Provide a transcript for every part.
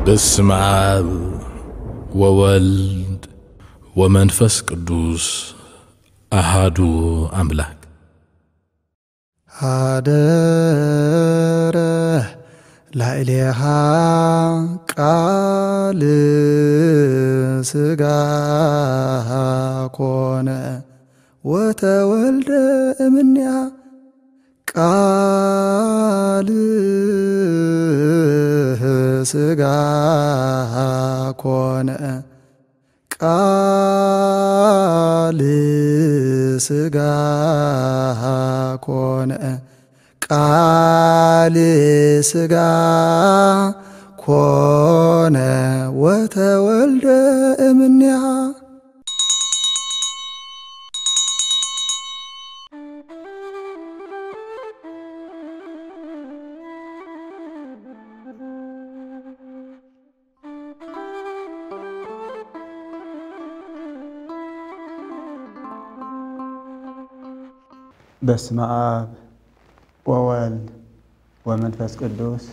በስመ አብ ወወልድ ወመንፈስ ቅዱስ አሃዱ አምላክ። ሀደረ ላዕሌሃ ቃል ሥጋ ኮነ ወተወልደ እምኔሃ። ቃል ሥጋ ኮነ፣ ቃል ሥጋ ኮነ፣ ቃል ሥጋ ኮነ ወተወልደ እምኔሃ። በስመ አብ ወወልድ ወመንፈስ ቅዱስ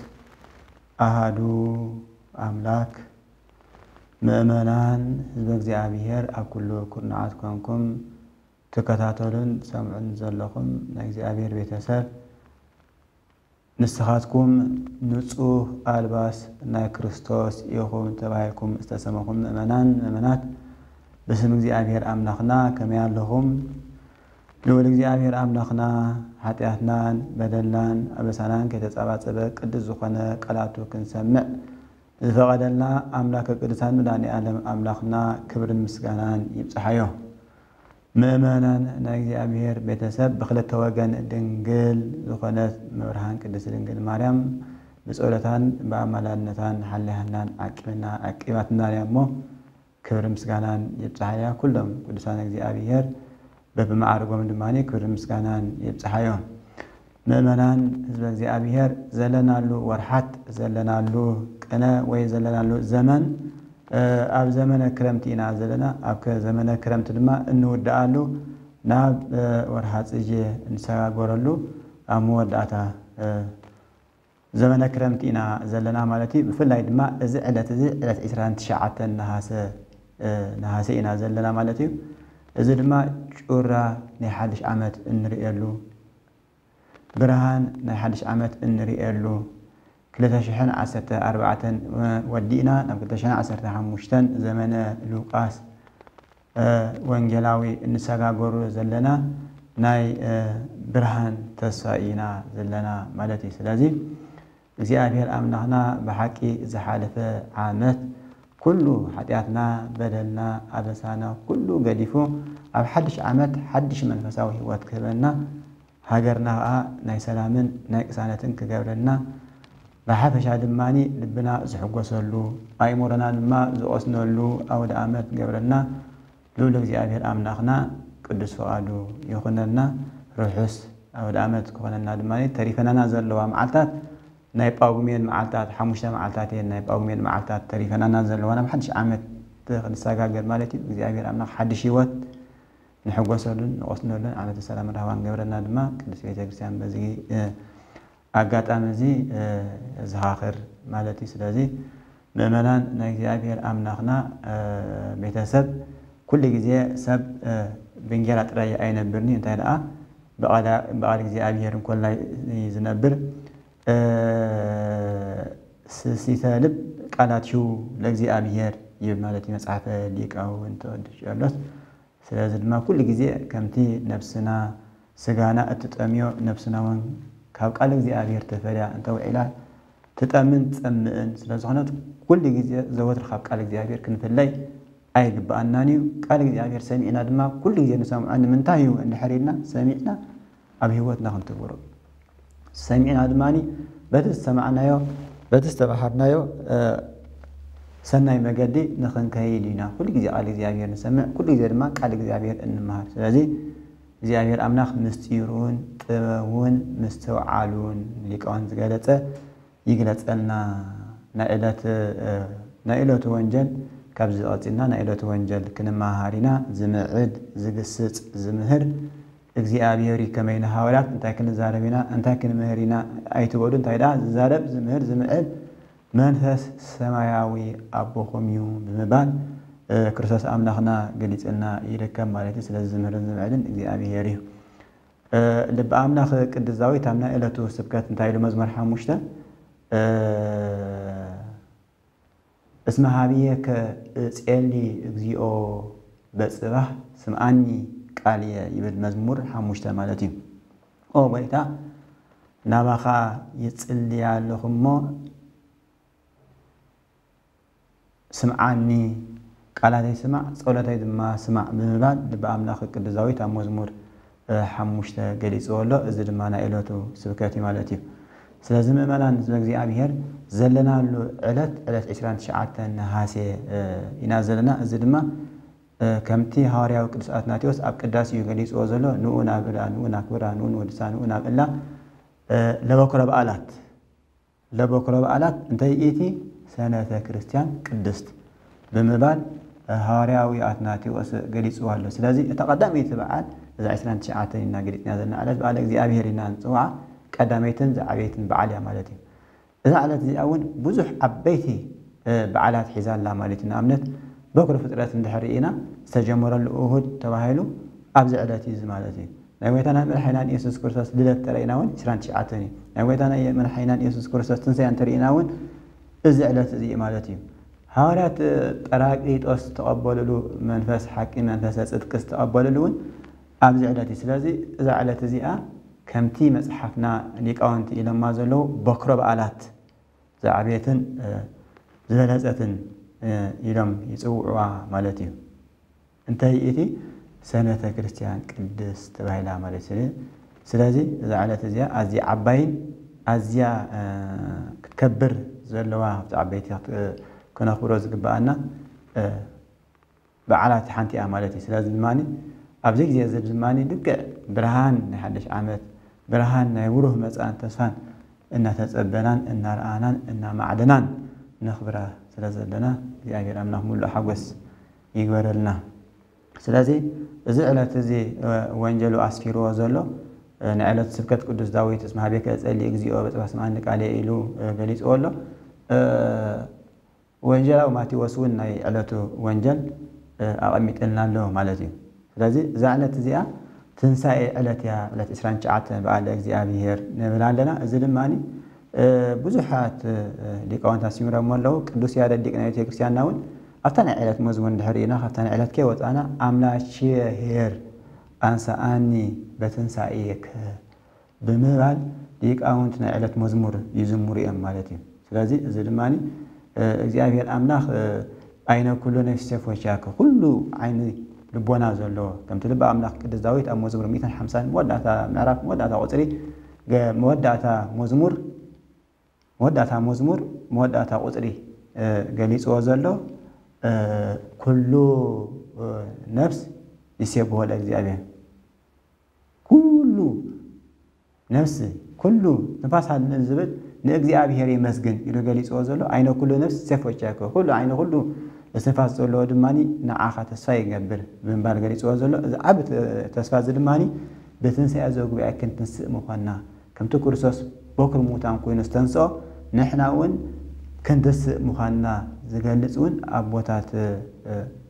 አሃዱ አምላክ። ምእመናን ህዝበ እግዚኣብሔር ኣብ ኩሉ ኩርናዓት ኮንኩም ትከታተሉን ትሰምዑን ዘለኹም ናይ እግዚኣብሔር ቤተሰብ፣ ንስኻትኩም ንጹህ ኣልባስ ናይ ክርስቶስ ኢኹም ተባሂልኩም ዝተሰመኹም ምእመናን ምእመናት፣ ብስም እግዚኣብሔር ኣምላኽና ከመይ ኣለኹም? ልዑል እግዚኣብሔር ኣምላኽና ሓጢኣትናን በደልናን ኣበሳናን ከይተጸባጸበ ቅዱስ ዝኾነ ቃላቱ ክንሰምዕ ዝፈቐደልና ኣምላከ ቅዱሳን መድኃኔ ዓለም ኣምላኽና ክብርን ምስጋናን ይብጽሓዮ። ምእመናን ናይ እግዚኣብሔር ቤተሰብ ብኽልተ ወገን ድንግል ዝኾነት መብርሃን ቅድስት ድንግል ማርያም ብጸሎታን ብኣማላድነታን ሓልያናን ዓቂብና ዓቂባትና እያ እሞ ክብርን ምስጋናን ይብጽሓያ። ኩሎም ቅዱሳን እግዚኣብሔር በብመዓርጎም ድማ ክብርን ምስጋናን ይብጽሓዮ። ምእመናን ህዝበ እግዚኣብሔር ዘለናሉ ወርሓት ዘለናሉ ቅነ ወይ ዘለናሉ ዘመን ኣብ ዘመነ ክረምቲ ኢና ዘለና። ኣብ ዘመነ ክረምቲ ድማ እንውድኣሉ ናብ ወርሓ ጽጌ እንሰጋገረሉ ኣብ መወዳእታ ዘመነ ክረምቲ ኢና ዘለና ማለት እዩ። ብፍላይ ድማ እዚ ዕለት እዚ ዕለት ዕስራን ትሽዓተን ነሃሰ ነሃሰ ኢና ዘለና ማለት እዩ። እዚ ድማ ጩራ ናይ ሓድሽ ዓመት እንርእየሉ ብርሃን ናይ ሓድሽ ዓመት እንርእየሉ ክልተ ሽሕን ዓሰርተ ኣርባዕተን ወዲእና ናብ ክልተ ሽሕን ዓሰርተ ሓሙሽተን ዘመነ ሉቃስ ወንጌላዊ እንሰጋገሩ ዘለና ናይ ብርሃን ተስፋ ኢና ዘለና ማለት እዩ። ስለዚ እግዚኣብሔር ኣምላኽና ብሓቂ ዝሓለፈ ዓመት ኩሉ ሓጢኣትና በደልና ኣበሳና ኩሉ ገዲፉ ኣብ ሓድሽ ዓመት ሓድሽ መንፈሳዊ ህይወት ክህበና ሃገርና ኸኣ ናይ ሰላምን ናይ ቅሳነትን ክገብረልና ብሓፈሻ ድማ ልብና ዝሕጎሰሉ ኣእምሮና ድማ ዝቐስነሉ ኣውደ ኣመት ክገብረልና ልዑል እግዚኣብሔር ኣምላኽና ቅዱስ ፍቓዱ ይኹነልና። ርሑስ ኣውደ ኣመት ክኾነና ድማ ተሪፈናና ዘለዋ መዓልታት ናይ ጳጉሜን መዓልታት ሓሙሽተ መዓልታት እየን ናይ ጳጉሜን መዓልታት ተሪፈናና ዘለዋ ናብ ሓድሽ ዓመት ክንሰጋገር ማለት እዩ። እግዚኣብሔር ኣምላኽ ሓድሽ ህይወት ንሕጎሰሉን ንቐስነሉን ዓመተ ሰላም ራህዋን ገብረና ድማ ቅድስት ቤተ ክርስቲያን በዚ ኣጋጣሚ እዚ የዘኻኽር ማለት እዩ። ስለዚ ምእመናን ናይ እግዚኣብሔር ኣምላኽና ቤተሰብ ኩሉ ግዜ ሰብ ብእንጌራ ጥራይ ኣይነብርኒ እንታይ ደኣ ብቓል እግዚኣብሔር እንኮላይ ዝነብር ስሲተ ልብ ቃላትዩ ለእግዚኣብሔር ይብል ማለት እዩ መጽሓፈ ሊቃውንት ቅዱስ ቄርሎስ። ስለዚ ድማ ኩሉ ግዜ ከምቲ ነብስና ስጋና እትጠምዮ ነብስና እውን ካብ ቃል እግዚኣብሔር ተፈልያ እንተውዒላ ትጠምን ትጸምእን ስለ ዝኾነት ኩሉ ግዜ ዘወትር ካብ ቃል እግዚኣብሔር ክንፍለይ ኣይግብኣናን እዩ። ቃል እግዚኣብሔር ሰሚዕና ድማ ኩሉ ግዜ ንሰምዖ ንምንታይ እዩ እንድሕር ኢልና ሰሚዕና ኣብ ህይወትና ክንትግብሮ ሰሚዕና ድማ በቲ ዝሰማዕናዮ በቲ ዝተባሃርናዮ ሰናይ መገዲ ንኽንከይድ ኢና። ኩሉ ግዜ ቃል እግዚኣብሔር ንሰምዕ፣ ኩሉ ግዜ ድማ ቃል እግዚኣብሔር እንመሃር። ስለዚ እግዚኣብሔር ኣምላኽ ምስጢሩን ጥበቡን ምስትውዓሉን ሊቃውንት ዝገለጸ ይግለጸልና። ናይ ዕለት ናይ ዕለቱ ወንጀል ካብዚ ቀጺልና ናይ ዕለቱ ወንጀል ክንመሃር ኢና። ዝምዕድ ዝግስጽ ዝምህር እግዚኣብሔር እዩ። ከመይ ንሃዋርያት እንታይ ክንዛረብ ኢና እንታይ ክንምህር ኢና ኣይትበሉ። እንታይ ደኣ ዝዛረብ ዝምህር ዝምዕድ መንፈስ ሰማያዊ ኣቦኹም እዩ ብምባል ክርስቶስ ኣምላኽና ገሊጽልና ይርከብ ማለት እዩ። ስለዚ ዝምህርን ዝምዕልን እግዚኣብሔር እዩ። ልቢ ኣምላኽ ቅዱስ ዳዊት ኣብ ናይ ዕለቱ ስብከት እንታይ ኢሉ? መዝሙር ሓሙሽተ እስመ ሀብየከ እጼሊ እግዚኦ በጽባሕ ስምዓኒ ቃልየ ይብል መዝሙር ሓሙሽተ ማለት እዩ። ኦ ጎይታ ናባኻ ይጽሊ ኣለኹ እሞ ስምዓኒ፣ ቃላተይ ስማዕ፣ ጸሎተይ ድማ ስማዕ ብምባል ልቢ ኣምላኽ ቅዱስ ዳዊት ኣብ መዝሙር ሓሙሽተ ገሊጽዎ ኣሎ። እዚ ድማ ናይ ዕለቱ ስብከት እዩ ማለት እዩ። ስለዚ ምእመናን ህዝበ እግዚኣብሔር ዘለናሉ ዕለት ዕለት ዕስራን ትሽዓተን ነሃሴ ኢና ዘለና። እዚ ድማ ከምቲ ሃዋርያዊ ቅዱስ ኣትናቴዎስ ኣብ ቅዳሴኡ ገሊጽዎ ዘሎ ንኡ ናብላ ንኡ ናክብራ ንኡ ንወድሳ ንኡ ናብላ ለበኩረ በዓላት ለበኩረ በዓላት እንተይእቲ ሰነተ ክርስቲያን ቅድስት ብምባል ሃዋርያዊ ኣትናቴዎስ ገሊጽዋ ኣሎ። ስለዚ እታ ቀዳመይቲ በዓል እዛ ዕስራን ትሽዓተን ኢና ገሊጽና ዘለና ዕለት በዓለ እግዚኣብሔር ኢና ንጽውዓ። ቀዳመይትን ዝዓበይትን በዓል እያ ማለት እዩ። እዛ ዕለት እዚኣ እውን ብዙሕ ዓበይቲ በዓላት ሒዛ ኣላ ማለት እዩ። ንኣብነት በኩረ ፍጥረት እንድሕር ርኢና ዝተጀመረሉ እሁድ ተባሂሉ ኣብዚ ዕለት እዩ ማለት እዩ። ናይ ጎይታና መድሓኒናን ኢየሱስ ክርስቶስ ልደት ተረኢና እውን ዕስራን ትሽዓተን እዩ። ናይ ጎይታና መድሓኒናን ኢየሱስ ክርስቶስ ትንሳኤ እንተርኢና እውን እዚ ዕለት እዚ እዩ ማለት እዩ። ሃዋርያት ጳራቅሊጦስ ዝተቐበልሉ መንፈስ ሓቂ መንፈሰ ጽድቂ ዝተቐበልሉ እውን ኣብዚ ዕለት እዩ። ስለዚ እዛ ዕለት እዚኣ ከምቲ መጽሓፍና ሊቃውንቲ ኢሎማ ዘለዉ በኩረ በዓላት ዝዓበየትን ዝበለጸትን ኢሎም ይጽውዕዋ ማለት እዩ። እንተይ እቲ ሰነተ ክርስቲያን ቅድስት ተባሂላ ማለት እዩ። ስለዚ እዛ ዕለት እዚኣ ኣዝያ ዓባይን ኣዝያ ክትከብር ዘለዋ ካብቲ ዓበይቲ ክነኽብሮ ዝግብኣና በዓላት ሓንቲ እያ ማለት እዩ። ስለዚ ድማ ኣብዚ ግዜ እዚ ድማ ልክዕ ብርሃን ናይ ሓድሽ ዓመት ብርሃን ናይ ብሩህ መጻእን ተስፋን እናተጸበናን እናረኣናን እናማዕደናን ነኽብራ ስለ ዘለና እግዚኣብሔር ኣምላኽ ሙሉእ ሓጎስ ይግበረልና። ስለዚ እዚ ዕለት እዚ ወንጀሉ ኣስፊርዎ ዘሎ ናይ ዕለት ስብከት ቅዱስ ዳዊት እስመ ሀቤከ እጸሊ እግዚኦ በጽባሕ ስምዓኒ ቃልየ ኢሉ ገሊጽዎ ኣሎ። ወንጀላዊ ማቴዎስ እውን ናይ ዕለቱ ወንጀል ኣቐሚጥልና ኣሎ ማለት እዩ። ስለዚ እዛ ዕለት እዚኣ ትንሳኤ ዕለት እያ፣ ዕለት ዕስራን ትሽዓተ በዓለ እግዚኣብሔር ንብል ኣለና። እዚ ድማ ብዙሓት ሊቃውንት ኣስሚሮሞ ኣለዉ። ቅዱስ ያሬድ ሊቅ ናይ ቤተክርስቲያንና እውን ኣብታ ናይ ዕለት መዝሙር እንድሕር ኢና ካብታ ናይ ዕለት ከይወፃና ኣምላቼ ኄር ኣንሳኣኒ በትንሳኤከ ብምባል ሊቃውንት ናይ ዕለት መዝሙር ይዝምሩ እዮም ማለት እዩ። ስለዚ እዚ ድማ እግዚኣብሔር ኣምላኽ ኣይነ ኩሉ ነፍሲ ሴፍ ወሻከ ኩሉ ዓይኒ ልቦና ዘለዎ ከምቲ ልቢ ኣምላኽ ቅዱስ ዳዊት ኣብ መዝሙር ሚእትን ሓምሳን መወዳእታ ምዕራፍ መወዳእታ ቁፅሪ መወዳእታ መዝሙር መወዳእታ መዝሙር መወዳእታ ቁፅሪ ገሊፅዎ ዘሎ ኩሉ ነፍስ ይሴብሖ ለእግዚኣብሔር ኩሉ ነፍሲ ኩሉ ንፋስ ሃልል ዝብል ንእግዚኣብሔር የመስግን ኢሉ ገሊፅዎ ዘሎ ኣይነ ኩሉ ነፍስ ሴፍ ወሻከ ኩሉ ዓይነ ኩሉ እስትንፋስ ዘለዎ ድማ ንዓኻ ተስፋ ይገብር ብምባል ገሊፅዎ ዘሎ እዚ ዓብ ተስፋ እዚ ድማ ብትንሳኤ ዘጉባኤ ክንትንስእ ምዃንና ከምቲ ክርስቶስ በኩር ሙታን ኮይኑ ዝተንስኦ ንሕና እውን ክንትስእ ምዃንና ዝገልፅ እውን ኣቦታት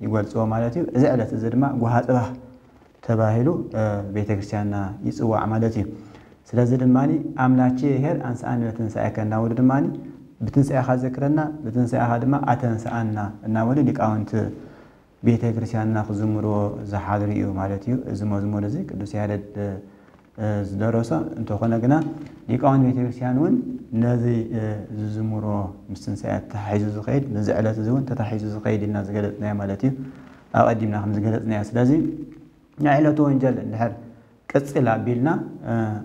ይገልፅዎ ማለት እዩ። እዚ ዕለት እዚ ድማ ጉሃ ፅባህ ተባሂሉ ቤተክርስትያንና ይፅዋዕ ማለት እዩ። ስለዚ ድማ ኣምላቼ ኄር ኣንስኣኒ በትንሳኤከ እናበሉ ድማ ብትንሳኤኻ ዘክረና ብትንሳኤኻ ድማ ኣተንስኣና እናበሉ ሊቃውንቲ ቤተክርስትያንና ክዝምርዎ ዝሓድሩ እዩ ማለት እዩ። እዚ መዝሙር እዚ ቅዱስ ያሬድ ዝደረሶ እንተኾነ ግና ሊቃውንቲ ቤተክርስትያን እውን ነዚ ዝዝምሮ ምስ ትንሳኤ ተታሒዙ ዝኸይድ ነዚ ዕለት እዚ እውን ተታሒዙ ዝኸይድ ኢልና ዝገለፅናዮ ማለት እዩ። ኣቐዲምና ከም ዝገለፅናዮ ስለዚ ናይ ዕለቱ ወንጀል እንድሕር ቅፅል ኣቢልና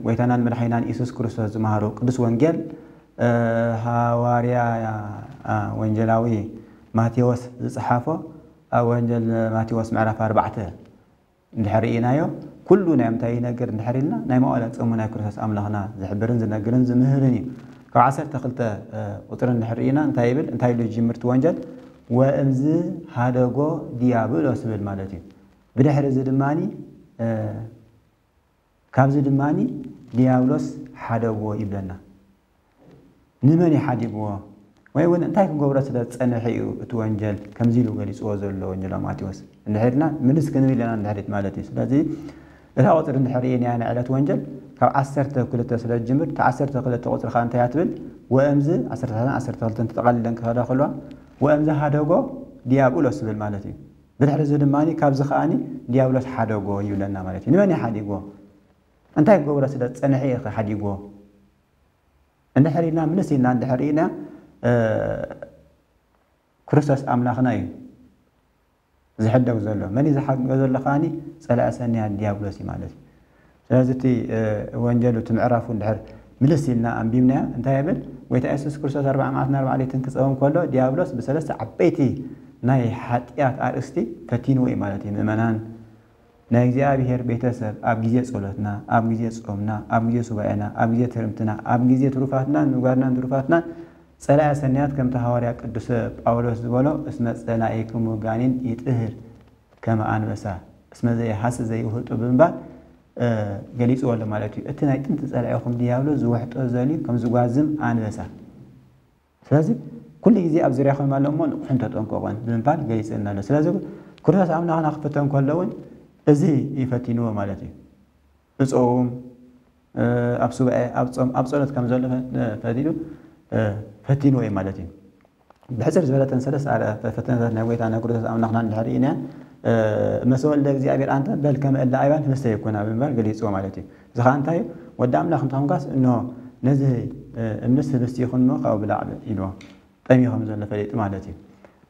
ጎይታናን መድሓኒናን ኢየሱስ ክርስቶስ ዝመሃሮ ቅዱስ ወንጌል ሃዋርያ ወንጀላዊ ማቴዎስ ዝፀሓፎ ኣብ ወንጀል ማቴዎስ ምዕራፍ ኣርባዕተ እንድሕር ርኢናዮ ኩሉ ናይ ምንታይ ይነግር እንድሕር ኢልና ናይ መዋእለ ጾሙ ናይ ክርስቶስ ኣምላኽና ዝሕብርን ዝነግርን ዝምህርን እዩ። ካብ ዓሰርተ ክልተ ቁፅሪ እንድሕር ርኢና እንታይ ይብል እንታይ ኢሉ ዝጅምር እቲ ወንጀል ወእምዝ ሃደጎ ዲያብሎስ ይብል ማለት እዩ። ብድሕሪ እዚ ድማ ካብዚ ድማ ዲያብሎስ ሓደግዎ ይብለና። ንመን እዩ ሓዲግዎ? ወይ እውን እንታይ ክገብሮ ስለ ዝጸንሐ እዩ እቲ ወንጀል ከምዚ ኢሉ ገሊጽዎ ዘሎ ወንጀላዊ ማቴዎስ? እንድሕር ኢልና ምልስ ክንብል ኢና እንድሕሪት ማለት እዩ። ስለዚ እታ ቁጽሪ እንድሕር ርኢናያ ናይ ዕለት ወንጀል ካብ ዓሰርተ ክልተ ስለ ዝጅምር፣ እታ ዓሰርተ ክልተ ቁጽሪ ከኣ እንታይ እያ ትብል? ወእምዝ ዓሰርተ ክልተ ተጠቓሊለን ክኸዳ ከለዋ ወእምዝ ሃደጎ ዲያብሎስ ትብል ማለት እዩ። ብድሕሪ እዚ ድማ ካብዚ ከኣ ዲያብሎስ ሓደጎ ይብለና ማለት እዩ። ንመን እዩ ሓዲጎ? እንታይ ክገብሮ ስለ ዝጸንሐ እዩ ሓዲጎ? እንድሕር ኢልና ምልስ ኢልና እንድሕር ርኢና ክርስቶስ ኣምላኽና እዩ ዝሕደግ ዘሎ። መን እዩ ዝሓድጎ ዘሎ ከኣኒ? ጸላኢ ሰናያት ዲያብሎስ እዩ ማለት እዩ። ስለዚ እቲ ወንጀሉ እቲ ምዕራፉ እንድሕር ምልስ ኢልና ኣንቢብናዮ እንታይ ይብል? ጎይታ የሱስ ክርስቶስ ኣርብዓ መዓልትን ኣርብዓ ለይትን ክጸውም ከሎ ዲያብሎስ ብሰለስተ ዓበይቲ ናይ ሓጢኣት ኣርእስቲ ፈቲንዎ እዩ ማለት እዩ። ምእመናን ናይ እግዚኣብሔር ቤተሰብ ኣብ ግዜ ጸሎትና፣ ኣብ ግዜ ጾምና፣ ኣብ ግዜ ሱባኤና፣ ኣብ ግዜ ትርምትና፣ ኣብ ግዜ ትሩፋትናን ምግባርናን ትሩፋትናን ጸላኢ ሰናያት ከምቲ ሃዋርያ ቅዱስ ጳውሎስ ዝበሎ እስመ ጸላኢክሙ ጋኔን ይጥህር ከመ ኣንበሳ እስመ ዘይሃስ ዘይውህጡ ብምባል ገሊጽዎ ኣሎ ማለት እዩ። እቲ ናይ ጥንቲ ጸላኢኹም ድያብሎስ ዝውሕጦ ዘልዩ ከም ዝጓዝም ኣንበሳ። ስለዚ ኩሉ ግዜ ኣብ ዙርያኹም ኣሎ እሞ ንቕሑን ተጠንቀቑን ብምባል ገሊጽልና ኣሎ። ስለዚ ክርስቶስ ኣምላኽና ክፍተን ከሎ እውን እዚ ይፈቲንዎ ማለት እዩ። እጾም ኣብ ሱባኤ ኣብ ጾም ኣብ ጸሎት ከም ዘሎ ፈቲኑ ፈቲንዎ እዩ ማለት እዩ። ብሕጽር ዝበለተን ሰለስተ ፈተነታት ናይ ጎይታ ናይ ክርስቶስ ኣምላኽና እንድሕር ኢና መሰወልደ እግዚኣብሔር ኣንተ በል ከመ እለ ኣይባን ህብስተ ይኩና ብምባል ገሊጽዎ ማለት እዩ። እዚ ኸዓ እንታይ እዩ? ወዲ ኣምላኽ እንተኾንካስ እንሆ ነዚ እምንስ ህብስቲ ይኹን እሞ ካብኡ ብላዕ ኢልዎ። ጠምዩ ከም ዘሎ ፈሊጡ ማለት እዩ።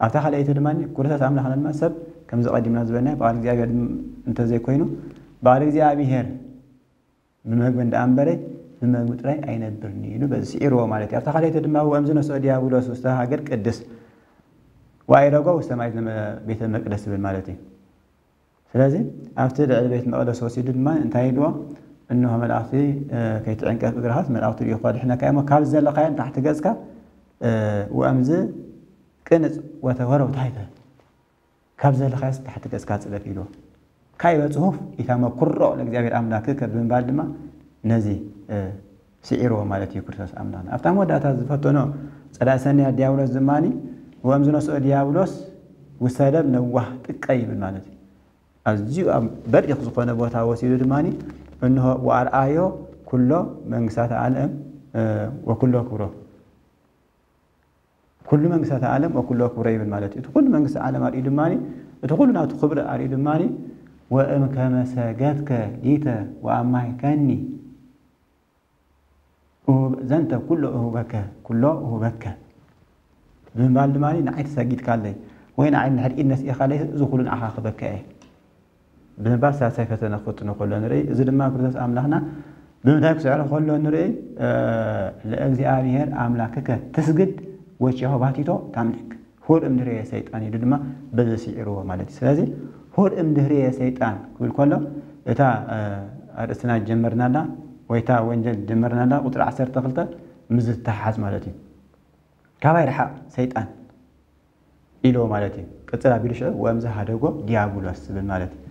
ኣብታ ካልኣይቲ ድማ ክርስቶስ ኣምላኽና ድማ ሰብ ከምዚ ቀዲምና ዝበልና በዓል እግዚኣብሔር እንተዘይኮይኑ በዓል እግዚኣብሔር ብመግቢ እንዳ ኣንበረ ብመግቢ ጥራይ ኣይነብርን እዩ ኢሉ በዚ ስዒርዎ ማለት እዩ። ኣብታ ካልኣይቲ ድማ ወእምዚ ነስኦ ዲያብሎስ ውስተ ሃገር ቅድስ ወኣይረጎ ውስተ ማይ ቤተ መቅደስ ዝብል ማለት እዩ። ስለዚ ኣብቲ ልዕሊ ቤት መቅደስ ወሲዱ ድማ እንታይ ኢልዎ? እንሆ መላእክቲ ከይትዕንቀፍ እግርኻስ መላእክቲ ልኢኹ ከድሕነካ እሞ ካብ ዘለኻዮ ንታሕቲ ገጽካ ወእምዚ ቅንጽ ወተወረው ታሕተ ካብ ዘለኻዮስ ታሕቲ ገጽካ ጽደፍ ኢልዎ። ካይበ ጽሑፍ ኢታመኩሮ ለእግዚኣብሔር ኣምላክከ ብምባል ድማ ነዚ ስዒርዎ ማለት እዩ ክርስቶስ ኣምላኽና። ኣብታ መወዳእታ ዝፈተኖ ጸላኢ ሰናያት ዲያብሎስ ድማ ወእምዚ ነስኦ ዲያብሎስ ውሰደብ ነዋህ ጥቀ ይብል ማለት እዩ። ኣዝዩ ኣብ በሪኽ ዝኾነ ቦታ ወሲዱ ድማ እንሆ ወኣርኣዮ ኩሎ መንግስታተ ዓለም ወኩሎ ክብሮ ኩሉ መንግስታተ ዓለም ወኩሎ ክብሮ ይብል ማለት እዩ። እቲ ኩሉ መንግስቲ ዓለም ኣርእዩ ድማ እቲ ኩሉ ናቱ ክብሪ ኣርእዩ ድማ ወእም ከመ ሰገድከ ሊተ ወኣማይከኒ ዘንተ ኩሎ እሁበከ ኩሎ እሁበከ ብምባል ድማ ንዓይ ተሰጊድካለይ ወይ ንዓይ ንድሕር ኢድ ነስኢኻለይ እዚ ኩሉ ንዓኻ ክበካ እየ ብምባል ሳልሳይ ፈተነ ክፍትኖ ከሎ ንርኢ። እዚ ድማ ክርስቶስ ኣምላኽና ብምንታይ ክስዕሮ ከሎ ንርኢ? ለእግዚኣብሔር ኣምላክከ ትስግድ ወቸሆባቲቶ ታምልክ። ሁር እምድህርየ ሰይጣን ኢሉ ድማ በዚ ስዒርዎ ማለት እዩ። ስለዚ ሁር እምድህርየ ሰይጣን ክብል ከሎ እታ ኣርእስትና ጀመርናላ ወይ እታ ወንጀል ጀመርናላ ቁፅሪ ዓሰርተ ክልተ ምስ ዝተሓዝ ማለት እዩ። ካባይ ርሓቕ ሰይጣን ኢልዎ ማለት እዩ። ቅፅል ኣቢሉ ሽዑ ወእምዚ ሃደጎ ዲያብሎስ ዝብል ማለት እዩ።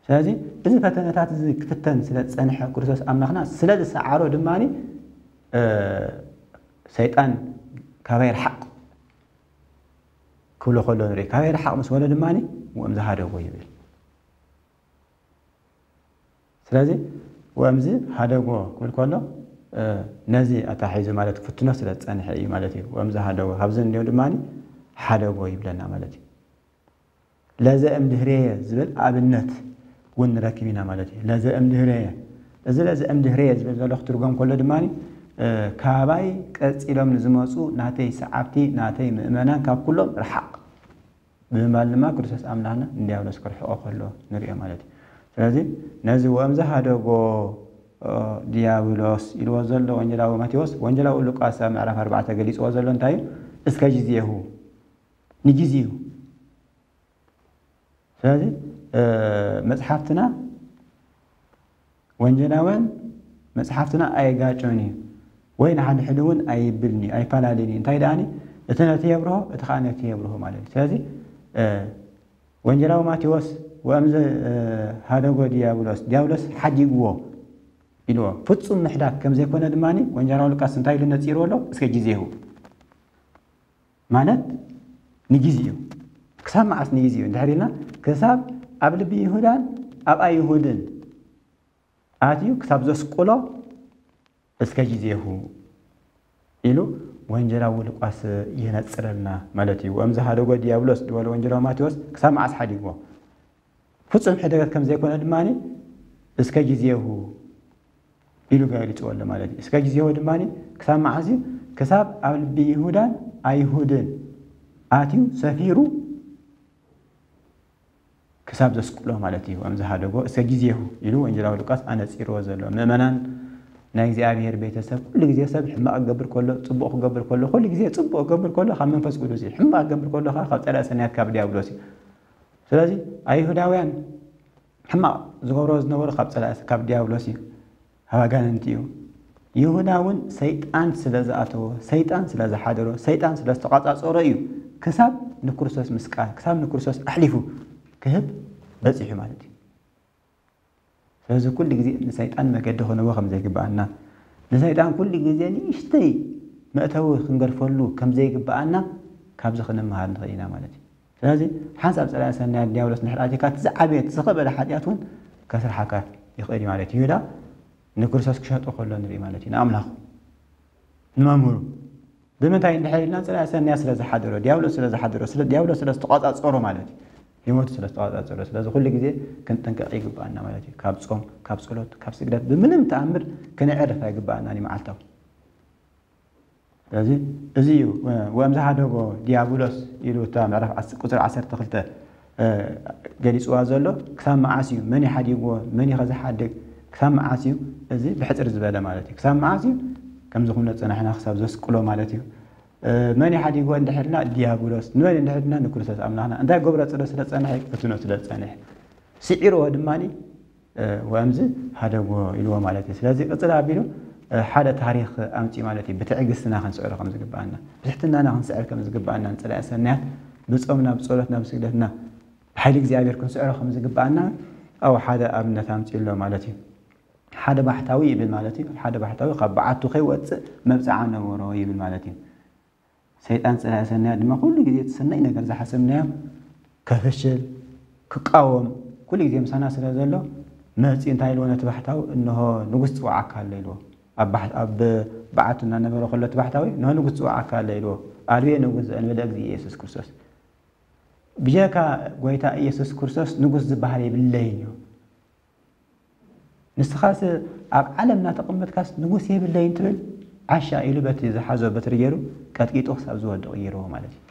ስለዚ እዚ ፈተነታት እዚ ክፍተን ስለ ዝፀንሐ ክርስቶስ ኣምላኽና ስለ ዝሰዓሮ ድማ ሰይጣን ካባይ ርሓቕ ክብሎ ከሎ ንርኢ። ካባይ ርሓቕ ምስ በሎ ድማ ወእምዚ ሃደጎ ይብል። ስለዚ ወእምዚ ሃደጎ ክብል ከሎ ነዚ ኣታሒዙ ማለት ክፍትኖ ስለ ዝፀንሐ እዩ ማለት እዩ። ወእምዚ ሃደጎ ካብዚ እንዲኦ ድማ ሓደጎ ይብለና ማለት እዩ። ለዘ እምድህሬየ ዝብል ኣብነት እውን ንረክብ ኢና ማለት እዩ። ለዘ እምድህሬየ፣ እዚ ለዘ እምድህሬየ ዝብል ዘሎ ክትርጎም ከሎ ድማ ካባይ ቀፂሎም ንዝመፁ ናተይ ሰዓብቲ፣ ናተይ ምእመናን ካብ ኩሎም ርሓቕ ብምባል ድማ ክርስቶስ ኣምላኽና ንዲያብሎስ ክርሕቆ ከሎ ንሪኦ ማለት እዩ። ስለዚ ነዚ ወእምዚ ሃደጎ ዲያብሎስ ኢልዎ ዘሎ ወንጌላዊ ማቴዎስ፣ ወንጌላዊ ሉቃስ ኣብ ምዕራፍ ኣርባዕተ ገሊፅዎ ዘሎ እንታይ እዩ? እስከ ጊዜሁ፣ ንጊዜኡ። ስለዚ መፅሓፍትና ወንጌላውያን መፅሓፍትና ኣይጋጮን እዩ ወይ ንሓድሕድ እውን ኣይብልን እዩ ኣይፈላለን እዩ። እንታይ ደኣኒ እቲ ነቲ የብርሆ እቲ ከዓ ነቲ የብርሆ ማለት እዩ። ስለዚ ወንጌላዊ ማቴዎስ ወእምዚ ሃደጎ ዲያብሎስ፣ ዲያብሎስ ሓዲግዎ ኢልዎ። ፍፁም ምሕዳግ ከም ዘይኮነ ድማ ወንጌላዊ ሉቃስ እንታይ ኢሉ ነፂርዎ ኣሎ? እስከ ጊዜሁ ማለት ንግዜኡ። ክሳብ መዓስ ንግዜኡ እንድሕር ኢልና፣ ክሳብ ኣብ ልቢ ይሁዳን ኣብ ኣይሁድን ኣትዩ ክሳብ ዘስቅሎ እስከ ጊዜሁ ኢሉ ወንጌላዊ ሉቃስ የነጽረልና ማለት እዩ። ወእምዝ ሀደጎ ዲያብሎስ ዝበሎ ወንጌላዊ ማቴዎስ ክሳብ መዓስ ሓዲግዎ? ፍጹም ሕደገት ከም ዘይኮነ ድማ እስከ ጊዜሁ ኢሉ ገሊጽዎ ኣሎ ማለት እዩ። እስከ ጊዜሁ ድማ ክሳብ መዓስ እዩ? ክሳብ ኣብ ልቢ ይሁዳን ኣይሁድን ኣትዩ ሰፊሩ ክሳብ ዘስቅሎ ማለት እዩ። ወእምዝ ሀደጎ እስከ ጊዜሁ ኢሉ ወንጌላዊ ሉቃስ ኣነጺርዎ ዘሎ። ምእመናን ናይ እግዚኣብሔር ቤተሰብ፣ ኩሉ ግዜ ሰብ ሕማቕ ክገብር ከሎ፣ ጽቡቕ ክገብር ከሎ፣ ኩሉ ግዜ ጽቡቕ ክገብር ከሎ ካብ መንፈስ ቅዱስ እዩ። ሕማቕ ክገብር ከሎ ከዓ ካብ ጸላኢ ሰናያት ካብ ዲያብሎስ እዩ። ስለዚ ኣይሁዳውያን ሕማቕ ዝገብሮ ዝነበሩ ካብ ጸላኢ ካብ ዲያብሎስ እዩ፣ ካብ ኣጋንንቲ እዩ። ይሁዳ እውን ሰይጣን ስለ ዝኣተዎ፣ ሰይጣን ስለ ዝሓደሮ፣ ሰይጣን ስለ ዝተቋጻጸሮ እዩ ክሳብ ንክርስቶስ ምስቃል፣ ክሳብ ንክርስቶስ ኣሕሊፉ ክህብ በጺሑ ማለት እዩ። ስለዚ ኩሉ ግዜ ንሰይጣን መገዲ ክንህቦ ከም ዘይግብኣና፣ ንሰይጣን ኩሉ ግዜ ንእሽተይ መእተዊ ክንገድፈሉ ከም ዘይግብኣና ካብዚ ክንመሃር ንኽእል ኢና ማለት እዩ። ስለዚ ሓንሳብ ጸላኢ ሰናያት ዲያብሎስ እንድሕር ኣቲካ፣ እቲ ዝዓበየ፣ እቲ ዝኸበደ ሓጢኣት እውን ከስርሓካ ይኽእል እዩ ማለት እዩ። ይሁዳ ንክርስቶስ ክሸጦ ከሎ ንርኢ ማለት እዩ፣ ንኣምላኹ፣ ንመምህሩ። ብምንታይ እንድሕር ኢልና፣ ጸላኢ ሰናያት ስለ ዝሓደሮ፣ ዲያብሎስ ስለ ዝሓደሮ፣ ስለ ዲያብሎስ ስለ ዝተቋጻጸሮ ማለት እዩ። ህይወቱ ስለ ዝተቋጻጸሮ። ስለዚ ኩሉ ግዜ ክንጥንቀቕ ይግብኣና ማለት እዩ። ካብ ጾም፣ ካብ ጸሎት፣ ካብ ስግደት ብምንም ተኣምር ክነዕርፍ ኣይግብኣናን እዩ መዓልታዊ። ስለዚ እዚ እዩ፣ ወእምዝ ሀደጎ ዲያብሎስ ኢሉ እታ ምዕራፍ ዓስ-፣ ቁጽሪ ዓሰርተ ክልተ፣ እ፣ ገሊጽዋ ዘሎ። ክሳብ መዓስ እዩ? መን እዩ ሓዲግዎ? መን እዩ ከ ዝሓድግ? ክሳብ መዓስ እዩ? እዚ ብሕጽር ዝበለ ማለት እዩ። ክሳብ መዓስ እዩ? ከምዚ ኩነ ጸናሕና ክሳብ ዘስቅሎ ማለት እዩ። እ፣ መን እዩ ሓዲግዎ እንድሕርና? ዲያብሎስ። ንመን እንድሕርና? ንክርስቶስ ኣምላኽና። እንታይ ገብሮ ስለ ዝጸንሐ? ይፈትኖ ስለ ዝጸንሐ። ስዒርዎ ድማኒ፣ እ፣ ወእምዝ ሀደጎ ኢልዎ ማለት እዩ። ስለዚ ቅጽል ኣቢሉ፣ እ፣ ሓደ ታሪኽ ኣምጺኡ ማለት እዩ። ብትዕግስትና ክንስዕሮ ከም ዝግብኣና፣ ብትሕትናና ክንስዕር ከም ዝግብኣና፣ ንጸላኢ ሰናያት ብጾምና፣ ብጸሎትና፣ ብስግደትና፣ ብሓይሊ እግዚኣብሔር ክንስዕሮ ከም ዝግብኣና፣ ኣብኡ ሓደ ኣብነት ኣምጺኡ ኣሎ ማለት እዩ። ሓደ ባሕታዊ ይብል ማለት እዩ። ሓደ ባሕታዊ ካብ በዓቱ ከይወጽእ መብጽዓ ነበሮ ይብል ማለት እዩ። ሰይጣን ጸላኢ ሰናያት ድማ ኩሉ ግዜ እቲ ሰናይ ነገር ዝሓሰብናዮ ከፍሽል፣ ክቃወም፣ ኩሉ ግዜ ምሳና ስለ ዘሎ፣ መጺኡ እንታይ ኢልዎ ነቲ ባሕታዊ? እንሆ ንጉስ ጽውዓካ ኣሎ ኢልዎ። ኣብ ባሕ-፣ ኣብ በዓቱ እናነበረ ከሎ እቲ ባሕታዊ፣ እንሆ ንጉስ ጽውዓካ ኣሎ ኢልዎ። ኣልቤ ንጉስ ዘእንበለ እግዚእ ኢየሱስ ክርስቶስ። ብጀካ ጎይታ ኢየሱስ ክርስቶስ ንጉስ ዝበሃል የብለይን እዩ። ንስኻስ ኣብ ዓለም እናተቐመጥካስ ንጉስ የብለይን ትብል? ዓሻ ኢሉ በቲ ዝሓዞ በትሪ ገይሩ ቀጥቂጡ ክሳብ ዝወድቕ ገይርዎ ማለት እዩ።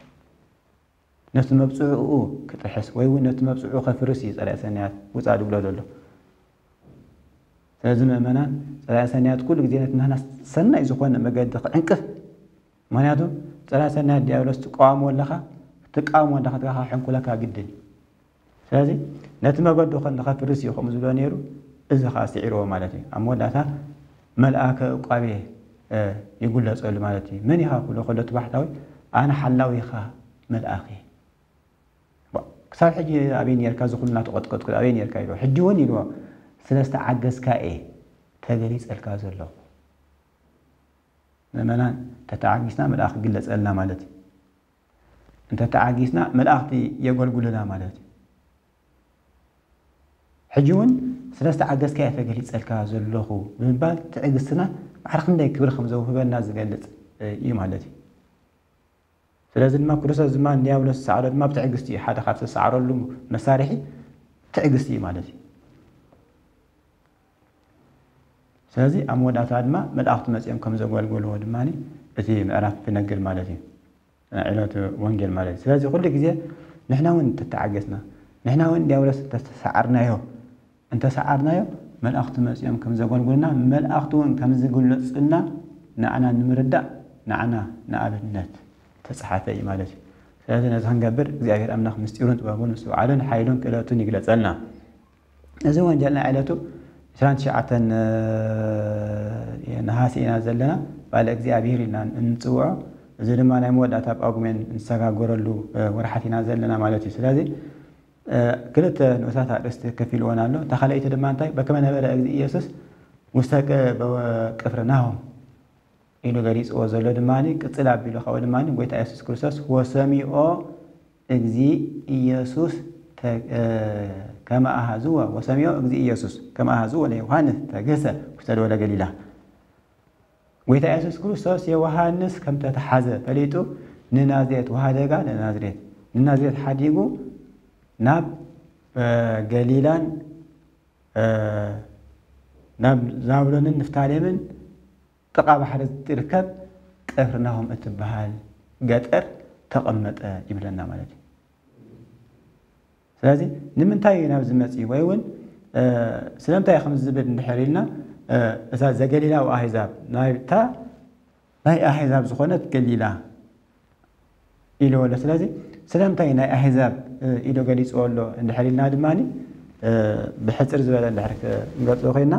ነቲ መብጽዕኡ ክጥሕስ ወይ እውን ነቲ መብጽዕኡ ከፍርስ እዩ ጸላኢ ሰናያት ውጻእ ዝብሎ ዘሎ። ስለዚ ምእመናን፣ ጸላኢ ሰናያት ኩሉ ግዜ ነቲ ናህና ሰናይ ዝኾነ መገዲ ክዕንቅፍ፣ ምኽንያቱ ጸላኢ ሰናያት ዲያብሎስ ትቃወሞ ኣለኻ፣ ክትቃወሞ እንዳኸድካ ሕንኩለካ ግድን እዩ። ስለዚ ነቲ መገዱ ከ ንኸፍርስ እዩ ከምኡ ዝብሎ ነይሩ፣ እዚ ኸኣ ስዒርዎ ማለት እዩ። ኣብ መወዳእታ መልኣከ ዕቋቤ፣ እ፣ ይጉለጸሉ ማለት እዩ። መን ኢኻ ክብሎ ከሎ እቲ ባሕታዊ፣ ኣነ ሓላዊኻ መልኣኽ እየ። ባ-፣ ክሳብ ሕጂ ኣበይ ነርካ? እዚ ኩሉ እናተቐጥቀጥኩ ኣበይ ነርካ? ኢልዎ። ሕጂ እውን ኢልዎ፣ ስለ ዝተዓገስካ እየ ተገሊጸልካ ዘለኹ። ምእመናን፣ እንተተዓጊስና መልኣኽ ክግለጸልና ማለት እዩ። እንተተዓጊስና መላእኽቲ የገልግሉና ማለት እዩ። ሕጂ እውን ስለ ዝተዓገስካ እየ ተገሊጸልካ ዘለኹ ብምባል ትዕግስትና ማዕረ ክንደይ ክብሪ ከም ዘውህበና ዝገልጽ፣ እ፣ እዩ ማለት እዩ። ስለዚ ድማ ክርስቶስ ድማ ንዲያብሎስ ዝሰዓሮ ድማ ብትዕግስቲ እዩ። ሓደ ካብ ዝተሰዓረሉ መሳርሒ ትዕግስቲ እዩ ማለት እዩ። ስለዚ ኣብ መወዳእታ ድማ መላእኽቲ መጺኦም ከም ዘገልገልዎ ድማ እቲ ምዕራፍ ይነግር ማለት እዩ። ዕለቱ ወንጌል ማለት እዩ። ስለዚ ኩሉ ግዜ ንሕና እውን እንተተዓገስና፣ ንሕና እውን ዲያብሎስ እንተተሰዓርናዮ፣ እንተሰዓርናዮ መላእኽቲ መጺኦም ከም ዘገልግሉና፣ መላእኽቲ እውን ከም ዝግለጹልና ንዓና ንምርዳእ፣ ንዓና ንኣብነት ተጻሓፈ እዩ ማለት እዩ። ስለዚ ነዚ ክንገብር እግዚኣብሔር ኣምላኽ ምስጢሩን ጥበቡን ምስትውዓሉን ሓይሉን ክእለቱን ይግለጸልና። እዚ ወንጌል ናይ ዕለቱ ዕስራን ትሽዓተን ነሃሲ ኢና ዘለና። በዓለ እግዚኣብሔር ኢልና እንጽውዖ። እዚ ድማ ናይ መወዳእታ ጳጉሜን እንሰጋገረሉ ወርሓት ኢና ዘለና ማለት እዩ። ስለዚ ክልተ ንኡሳት ኣርእስቲ ከፊልወን ኣሎ። እታ ካልኣይቲ ድማ እንታይ? በከመ ነበረ እግዚእ ኢየሱስ ውስተ ቅ-፣ በ-፣ ቅፍርናሆም። ኢሉ ገሊጽዎ ዘሎ ድማ ቅጽል ኣቢሉ ካብኡ ድማ ጎይታ የሱስ ክርስቶስ ወሰሚኦ እግዚ ኢየሱስ ተ-፣ እ፣ ከመ ኣሃዝዎ፣ ወሰሚኦ እግዚ ኢየሱስ ከመ ኣሃዝዎ ለዮሃንስ ተግህሰ ውስተ ደወለ ገሊላ። ጎይታ የሱስ ክርስቶስ ዮሃንስ ከም ተተሓዘ ፈሊጡ ንናዝሬት ወሃደጋ ንናዝሬት፣ ንናዝሬት ሓዲጉ ናብ፣ እ፣ ገሊላን፣ እ፣ ናብ ዛብሎንን ንፍታሌምን ጥቓ ባሕሪ እትርከብ ቅፍርናሆም እትበሃል ገጠር ተቐመጠ ይብለና ማለት እዩ። ስለዚ ንምንታይ እዩ ናብዚ መጺኡ? ወይ እውን፣ እ፣ ስለምንታይ እዩ ከምዚ ዝብል እንድሕር ኢልና፣ እ፣ እዛ ዘገሊላዊ ኣህዛብ ናይታ ናይ ኣህዛብ ዝኾነት ገሊላ ኢልዎ ኣሎ። ስለዚ ስለምንታይ ናይ ኣህዛብ፣ እ፣ ኢሉ ገሊጽዎ ኣሎ እንድሕር ኢልና ድማ፣ እ፣ ብሕጽር ዝበለ እንድሕር ክንገልጾ ኮይና፣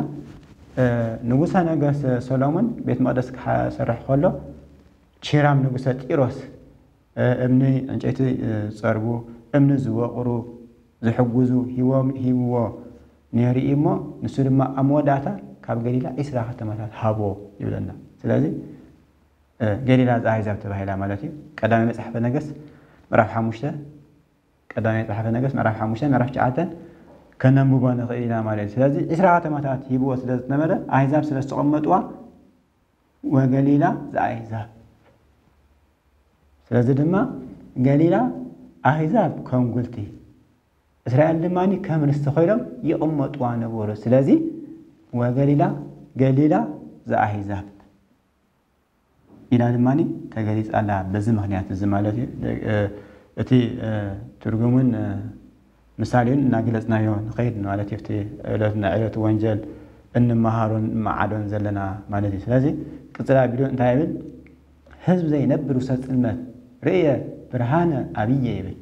እ፣ ንጉሰ ነገስት ሰሎሞን ቤት መቕደስ ክሰርሕ ከሎ ቺራም ንጉሰ ጢሮስ፣ እ፣ እምኒ ዕንጨይቲ፣ እ፣ ዝጸርቡ፣ እምኒ ዝወቕሩ፣ ዝሕጉዙ ሂቦም፣ ሂብዎ ነይሩ እዩ እሞ ንሱ ድማ ኣብ መወዳእታ ካብ ገሊላ ዒስራ ከተማታት ሃቦ ይብለና። ስለዚ እ፣ ገሊላ ዘኣህዛብ ተባሂላ ማለት እዩ። ቀዳማይ መጽሓፈ ነገስት ምዕራፍ ሓሙሽተ፣ ቀዳማይ መጽሓፈ ነገስት ምዕራፍ ሓሙሽተ፣ ምዕራፍ ትሽዓተ ከነንብቦ ንኽእል ኢና ማለት እዩ። ስለዚ ዒስራ ከተማታት ሂብዎ ስለ ዝነበረ ኣህዛብ ስለ ዝተቐመጥዋ ወገሊላ ዘኣህዛብ። ስለዚ ድማ ገሊላ ኣህዛብ ከም ጉልቲ፣ እስራኤል ድማ ከም ርስቲ ኮይኖም ይቕመጥዋ ነበሩ። ስለዚ ወገሊላ ገሊላ ዘኣህዛብ ኢላ ድማ ተገሊጻ ኣላ። በዚ ምኽንያት እዚ ማለት እዩ። እ፣ እቲ፣ እ፣ ትርጉምን፣ እ፣ ምሳሌን እናገለጽናዮ ንኸይድ ማለት እዩ። እቲ ዕለትና ዕለት ወንጀል እንመሃሮን እንመዓዶን ዘለና ማለት እዩ። ስለዚ ቅጽል ኣቢሉ እንታይ ይብል? ህዝብ ዘይነብር ውስተ ጽልመት ርእየ ብርሃነ ኣብየ ይብል።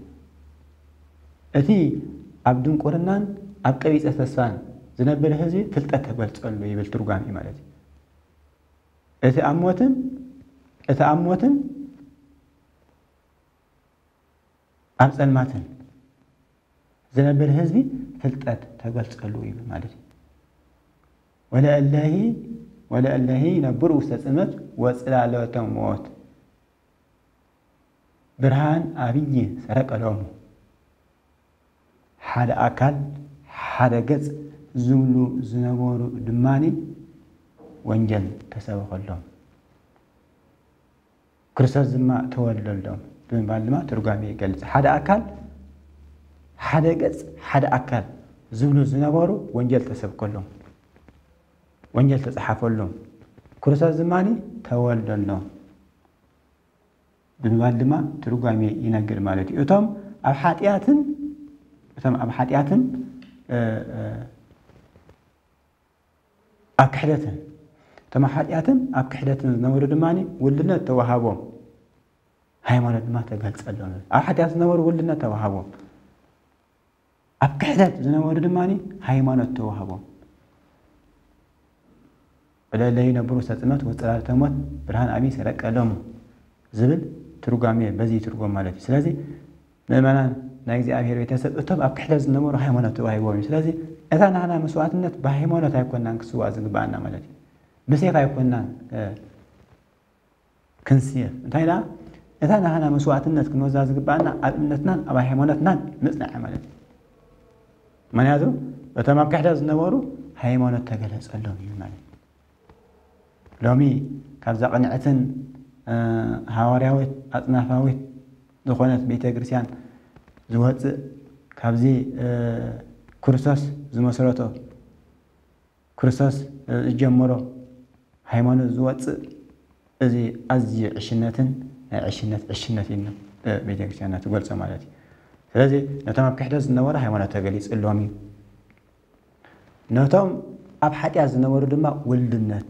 እቲ ኣብ ድንቁርናን ኣብ ቀቢጸ ተስፋን ዝነብር ህዝቢ ፍልጠት ተገልጸሉ ይብል ትርጓሜ ማለት እዩ። እቲ ኣብ ሞትን፣ እቲ ኣብ ሞትን ኣብ ጸልማትን ዝነብር ህዝቢ ፍልጠት ተገልጸሉ እዩ ማለት እዩ። ወለእለሂ፣ ወለእለሂ ይነብሩ ውስተ ጽልመት ወጽላሎተ ሞት ብርሃን ኣብይ ሰረቀ ሎሙ። ሓደ ኣካል፣ ሓደ ገጽ ዝብሉ ዝነበሩ ድማኒ ወንጀል ተሰበኸሎም። ክርስቶስ ድማ ተወልደሎም ብምባል ድማ ትርጓሜ ይገልጽ። ሓደ ኣካል፣ ሓደ ገጽ፣ ሓደ ኣካል ዝብሉ ዝነበሩ ወንጀል ተሰብከሎም፣ ወንጀል ተጻሓፈሎም። ክርስቶስ ድማ ተወልደሎም ብምባል ድማ ትርጓሜ ይነግር ማለት እዩ። እቶም ኣብ ሓጢኣትን፣ እቶም ኣብ ሓጢኣትን፣ እ፣ እ፣ ኣብ ክሕደትን፣ እቶም ኣብ ሓጢኣትን ኣብ ክሕደትን ዝነበሩ ድማ ውልድነት ተዋሃቦም፣ ሃይማኖት ድማ ተገልጸሎም። ኣብ ሓጢኣት ዝነበሩ ውልድነት ተዋሃቦም፣ ኣብ ክሕደት ዝነበሩ ድማ ሃይማኖት ተዋሃቦም። ወለእለሂ ይነብሩ ውስተ ጽልመት ወጽላሎተ ሞት ብርሃን ኣብይ ሰረቀ ሎሙ ዝብል ትርጓሜ በዚ ይትርጎም ማለት እዩ። ስለዚ ምእመናን ናይ እግዚኣብሔር ቤተሰብ እቶም ኣብ ክሕደት ዝነበሩ ሃይማኖት ተዋሂቦም እዩ። ስለዚ እታ ናህና መስዋዕትነት ብሃይማኖት ኣይኮናን ክስዋእ ዝግባኣና ማለት እዩ። ብሴፍ ኣይኮናን፣ እ፣ ክንስየፍ። እንታይ ደኣ እታ ናህና መስዋዕትነት ክንወዛ ዝግባኣና ኣብ እምነትናን ኣብ ሃይማኖትናን ምጽናዕ ማለት እዩ። ምክንያቱ እቶም ኣብ ክሕደት ዝነበሩ ሃይማኖት ተገለጸሎም እዩ ማለት እዩ። ሎሚ ካብዛ ቅንዕትን፣ እ፣ ሃዋርያዊት ኣጽናፋዊት ዝኾነት ቤተ ክርስቲያን ዝወጽእ ካብዚ፣ እ፣ ክርስቶስ ዝመስረቶ ክርስቶስ ዝጀመሮ ሃይማኖት ዝወጽእ እዚ ኣዝዩ ዕሽነትን ናይ ዕሽነት ዕሽነት እዩ፣ እ፣ ቤተክርስትያንና ትገልጾ ማለት እዩ። ስለዚ ነቶም ኣብ ክሕደት ዝነበሩ ሃይማኖት ተገሊጽሎም እዩ። ነቶም ኣብ ሓጢኣት ዝነበሩ ድማ ውልድነት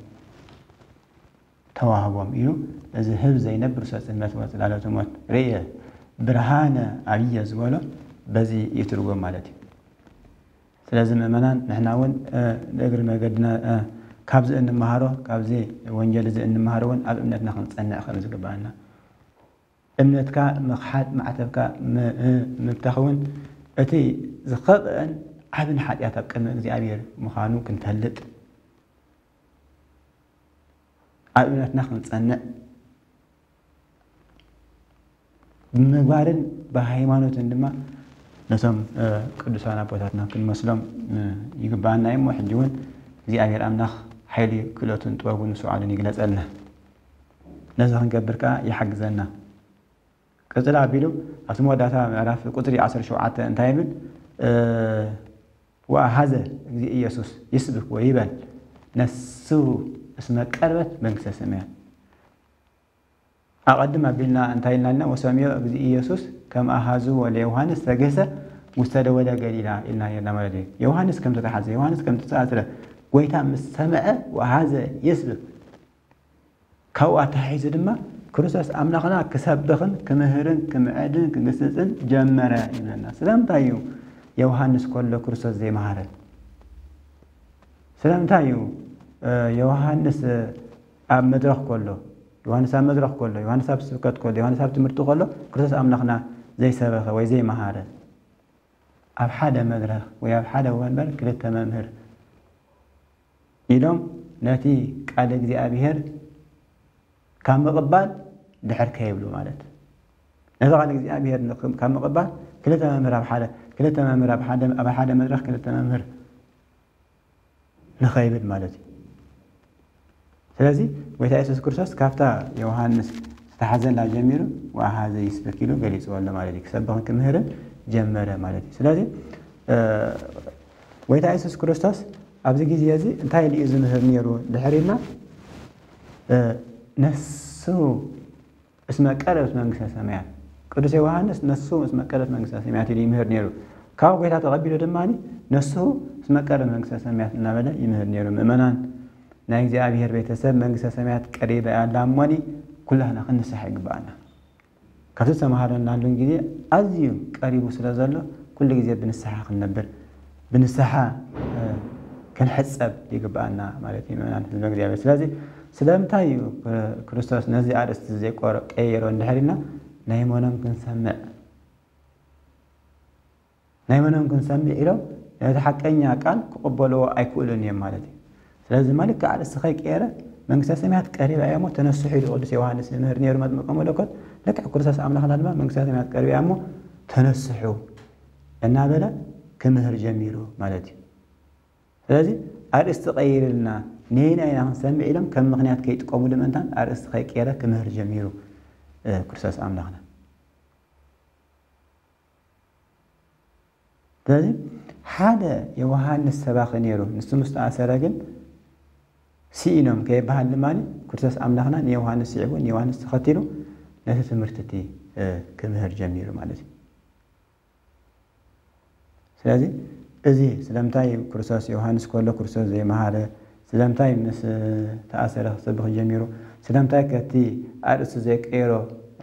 ተዋህቦም እዩ። እዚ ህብ ዘይነብር ሰጽነት ወጽላሎት ሞት ርእየ ብርሃነ ኣብየ ዝበሎ በዚ ይትርጎም ማለት እዩ። ስለዚ ምእመናን ንሕና እውን፣ እ፣ ንእግሪ መገድና፣ እ፣ ካብዚ እንመሃሮ፣ ካብዚ ወንጌል እዚ እንመሃሮ እውን ኣብ እምነትና ክንጸንዕ ከም ዝግባኣና። እምነትካ ምኽሓድ፣ ማዕተብካ ም-፣ እ፣ ምብታኽ እውን እቲ ዝኸብአን ዓብን ሓጢኣት ኣብ ቅድሚ እግዚኣብሔር ምዃኑ ክንፈልጥ ኣብ እምነትና ክንጸንዕ፣ ብምግባርን ብሃይማኖትን ድማ ነቶም ቅዱሳን ኣቦታትና ክንመስሎም ይግባኣና እዩ። እሞ ሕጂ እውን እግዚኣብሔር ኣምላኽ ሓይሊ ክእለቱን ጥበቡን ስዓሉን ይግለጸልና። ነዚ ክንገብር ከኣ ይሓግዘና። ቅጽል ኣቢሉ ኣብቲ መወዳእታ ምዕራፍ ቁጽሪ ዓሰርተ ሸውዓተ እንታይ ይብል? ወኣሃዘ እግዚእ ኢየሱስ ይስብክ ወይበል ነሱ እስመ ቀርበት መንግስተ ሰማያት። ኣቐድም ኣቢልና እንታይ ኢልና ኣለና? ወሰምዮ እግዚእ ኢየሱስ ከም ኣሃዝዎ ለዮሃንስ ተገሰ ውስተ ደወለ ገሊላ ኢልና ነርና ማለት እዩ። ዮሃንስ ከም ተተሓዘ፣ ዮሃንስ ከም ተተኣስረ ጎይታ ምስ ሰምዐ ወሃዘ የስብክ። ካብኡ ኣተሓሒዙ ድማ ክርስቶስ ኣምላኽና ክሰብኽን ክምህርን ክምዕድን ክግስጽን ጀመረ ይብለና። ስለምንታይ እዩ ዮሃንስ ከሎ ክርስቶስ ዘይመሃረ? ስለምንታይ እዩ ዮሃንስ ኣብ መድረኽ ከሎ፣ ዮሃንስ ኣብ መድረኽ ከሎ፣ ዮሃንስ ኣብ ስብከት ከሎ፣ ዮሃንስ ኣብ ትምህርቲ ከሎ ክርስቶስ ኣምላኽና ዘይሰበኸ ወይ ዘይመሃረ? ኣብ ሓደ መድረኽ ወይ ኣብ ሓደ ወንበር ክልተ መምህር ኢሎም ነቲ ቃል እግዚኣብሔር ካብ ምቕባል ድሕር ከይብሉ ማለት። ነቲ ቃል እግዚኣብሔር ካብ ምቕባል ክልተ መምህር ኣብ ሓደ፣ ክልተ መምህር ኣብ ሓደ፣ ኣብ ሓደ መድረኽ ክልተ መምህር ንኸይብል ማለት እዩ። ስለዚ ጎይታ የሱስ ክርስቶስ ካብታ ዮሃንስ ዝተሓዘላ ጀሚሩ ወኣሃዘ ይስብክ ኢሉ ገሊጽዎ ኣሎ ማለት እዩ። ክሰብኽን ክምህርን ጀመረ ማለት እዩ። ስለዚ ጎይታ የሱስ ክርስቶስ ኣብዚ ግዜ እዚ እንታይ ኢሉ እዩ ዝምህር ነይሩ ድሕር ኢልና፣ ነሱ እስመ ቀረበት መንግስተ ሰማያት። ቅዱስ ዮሃንስ ነሱ እስመ ቀረበት መንግስተ ሰማያት ኢሉ ይምህር ነይሩ። ካብ ጎይታ ተቐቢሉ ድማ ነሱ እስመ ቀረበት መንግስተ ሰማያት እናበለ ይምህር ነይሩ። ምእመናን ናይ እግዚኣብሔር ቤተሰብ መንግስተ ሰማያት ቀሪባ እያ ኣላ እሞኒ ኩላህና ክንንሳሕ ይግባኣና። ካብቲ ዝተምሃረናሉን ግዜ ኣዝዩ ቀሪቡ ስለ ዘሎ ኩሉ ግዜ ብንስሓ ክንነብር፣ ብንስሓ ክንሕጸብ ይግባኣና ማለት እዩ ምእመናን ህዝበ እግዚኣብሔር። ስለዚ ስለምንታይ እዩ ክርስቶስ ነዚ ኣርእስቲ ዘይቆረ-፣ ቀየሮ እንድሕር ኢልና ናይ መኖም ክንሰምዕ፣ ናይ መኖም ክንሰምዕ ኢሎም ነቲ ሓቀኛ ቃል ክቕበልዎ ኣይክእሉን እዮም ማለት እዩ። ስለዚ ድማ ልክዕ ኣርእስቲ ከይቀየረ መንግስተ ሰማያት ቀሪባ እያ እሞ ተነስሑ ኢሉ ቅዱስ ዮሃንስ ይምህር ነይሩ መጥምቀ መለኮት። ልክዕ ክርስቶስ ኣምላኽና ድማ መንግስተ ሰማያት ቀሪባ እያ እሞ ተነስሑ እናበለ ክምህር ጀሚሩ ማለት እዩ። ስለዚ ኣርእስቲ ቀይርልና ነየናይ ኢና ክንሰምዕ ኢሎም ከም ምኽንያት ከይጥቀሙሉ ምእንታን ኣርእስቲ ከይቀየረ ክምህር ጀሚሩ ክርስቶስ ኣምላኽና። ስለዚ ሓደ ዮሃንስ ሰባኺ ነይሩ፣ ንሱ ምስ ተኣሰረ ግን ስኢኖም ከይበሃል ድማ ክርስቶስ ኣምላኽና ንዮሃንስ ስዒቡ ንዮሃንስ ተኸቲሉ ነቲ ትምህርቲ እቲ ክምህር ጀሚሩ ማለት እዩ። ስለዚ እዚ ስለምንታይ ክርስቶስ ዮሃንስ ከሎ ክርስቶስ ዘይመሃረ፣ ስለምንታይ ምስ ተኣሰረ ክሰብኽ ጀሚሩ፣ ስለምንታይ ከቲ ኣርእስቱ ዘይቀየሮ